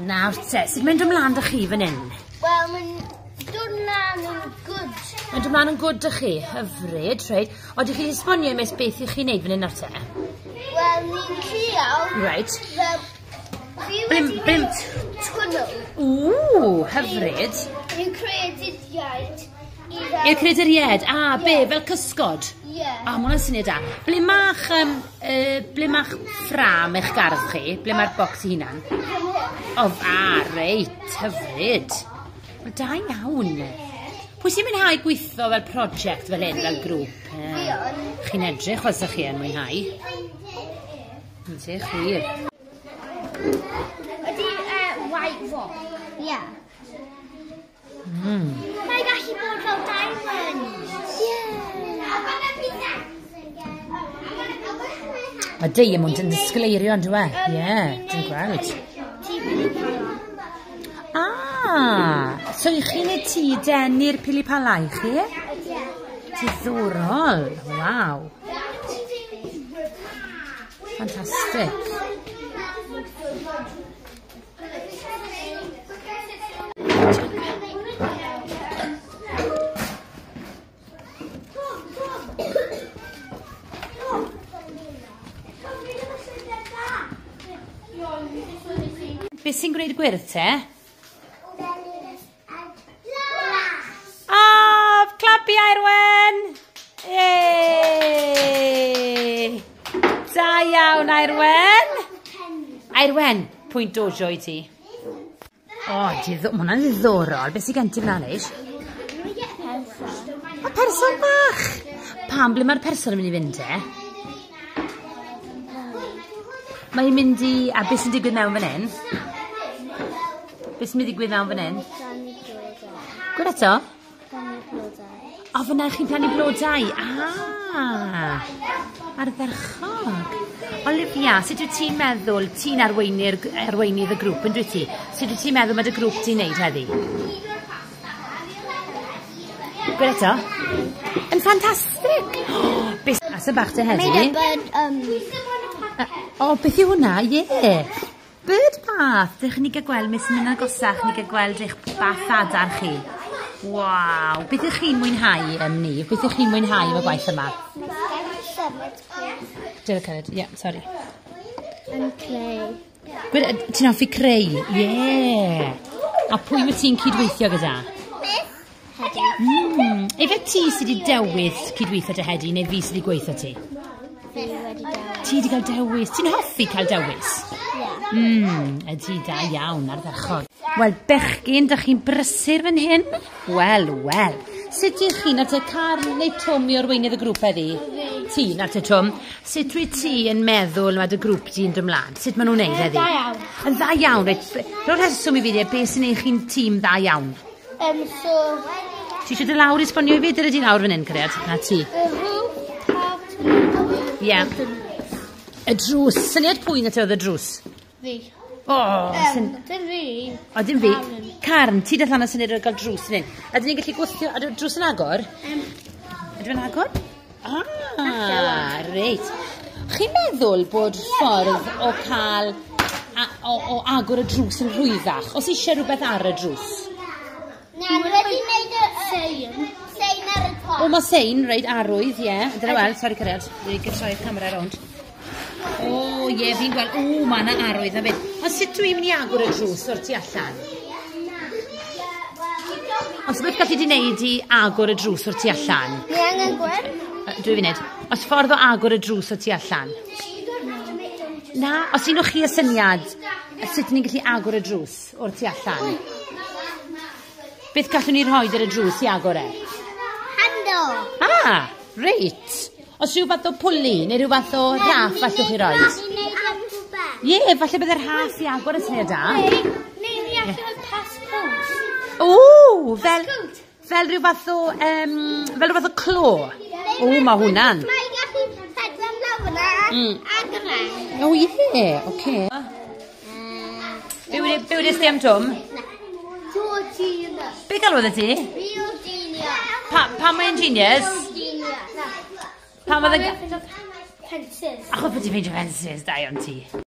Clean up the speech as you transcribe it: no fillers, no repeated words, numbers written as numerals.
Nawr te, sut mae'n dod mlaen 'da chi fan hyn? Wel, mae'n dod mlaen yn good. Mae'n dod mlaen yn good 'da chi? Hyfryd, reit. O, dych chi 'di esbonio i miss beth i chi'n neud fan hyn nawr te? Wel, ni'n trial. Reit. Fel, fi wedi gwneud twnnel. Ww, hyfryd. Ni'n creaduriaid i fel... I'r creaduriaid? A, be, fel cysgod? Ie. Yeah. A, ma' hwnna'n syniad da. Ble ma'ch, um, ble ma'ch ffram eich gardd chi? Ble mae'r bocs i hunan? O, a, reit, hyfryd. Wel, da iawn. Pwy sy'n mwynhau gweithio fel prosiect fel hyn, fel grŵp? Fi yn. Chi'n edrych fel sa chi yn mwynhau. Ydych, wir. Ydy white rock? Ie. Yeah. Mae'n gallu bod fel diamond. Ie. Mae diamond yn disgleirio on'd yw e? Ie, dwi'n gweld. Ah, so i chi'n neud tŷ denu'r pili pala i chi? Diddorol, waw. Ffantastig. Beth sy'n gwneud y gwyrdd te? Ah, clap i Aerwen! Yay! Da iawn, Aerwen! Aerwen, pwynt dojo i ti. O, oh, mae hwnna'n ddiddorol. Beth sy'n gen ti fyna, Leish? O, person bach! Pam, ble mae'r person yn mynd i fynd te? Mae'n mynd i... A beth sy'n digwydd mewn fan hyn? Beth sy'n mynd i digwydd mewn fan hyn? Gwyd eto? O, fyna chi'n plannu blodau. Ah, ardderchog. Olivia, sut wyt ti'n meddwl, ti'n arweinydd y grŵp, yn dwyt ti? Sut wyt ti'n meddwl mae dy grŵp ti'n neud heddi? Gwyd eto? Yn ffantastig! Oh, beth sy'n bach te heddi? Made a bird, O, beth yw hwnna? Ie. Yeah. Bird bath. Dych ni gael gweld, mis yn mynd agosach, ni gael gweld eich bath adar chi. Waw. Beth ych chi'n mwynhau ni? Beth ych chi'n mwynhau efo gwaith yma? Dyna cyrraedd, ie, sori. Yn creu. Gwyd, ti'n hoffi creu? Ie. Yeah. A pwy wyt ti'n cydweithio gyda? Hedi. Efe ti sydd wedi dewis cydweithio dy Hedi, neu fi sydd wedi gweithio ti? Fi wedi dewis. Ti wedi cael dewis. Ti'n hoffi cael dewis? Ie. Ydy, da iawn, ardderchog. Wel, bechgyn, dych chi'n brysur fan hyn? Wel, wel. Sut ydych chi, nawr te Carl neu Twm i arweinydd y grŵp heddi? Ti, nawr te Twm. Sut wyt ti yn meddwl mae dy grŵp di'n dod mlaen? Sut maen nhw'n neud heddi? Dda iawn. Yn dda iawn, reit. Rho'r rheswm i fi, de, beth sy'n neud chi'n tîm dda iawn? So... Ti eisiau dy lawr i esbonio i fi? Dyna di lawr fan hyn, cariad. Na ti. Y roof, part... Ie. Y drws. Syniad pwy na te oedd y drws? Fi. O, Dim fi. O, dim fi. Carn, ti dath lan o syniad o gael drws fan hyn. Ydyn ni'n gallu gwthio... Ydy'r drws yn agor? Ydy fe'n agor? Ah, reit. Chi'n meddwl bod ffordd o cael... O agor y drws yn rhwyddach? Os eisiau rhywbeth ar y drws? Na, dwi wedi gwneud y sein. Sein ar y top. O, mae sein, reit, arwydd, ie. Dyna weld, sori cariad, dwi'n gytroi'r camera rownd. O, ie, fi'n gweld, o, mae yna arwydd na beth. Ond sut dwi'n mynd i agor y drws o'r tu allan? Os beth gallu di wneud i agor y drws o'r tu allan? Ni angen gweld? 2 funud. Os ffordd o agor y drws o'r tu allan? Na, os un o chi y syniad, sut ni'n gallu agor y drws o'r tu allan? Beth gallwn ni rhoi ar y drws i agor e? Handle. Ah, reit. Os rhyw fath o pwli neu rhyw fath o raff allwch chi roi? Ie, falle byddai'r rhaff i agor y syniad da. Neu ni allan o'r passport. O, fel rhyw fath o, fel rhyw fath o clo. O, mae hwnna'n. Mae'n gallu hedfan lawr yna agor e. O, ie, oce. Be wedys di am Twm? Be galwodd y ti? Real genius. Pam mae'n genius? Genius. Pam oedd yn... Fences. Achos bod ti'n ffeindio fences, da iawn ti.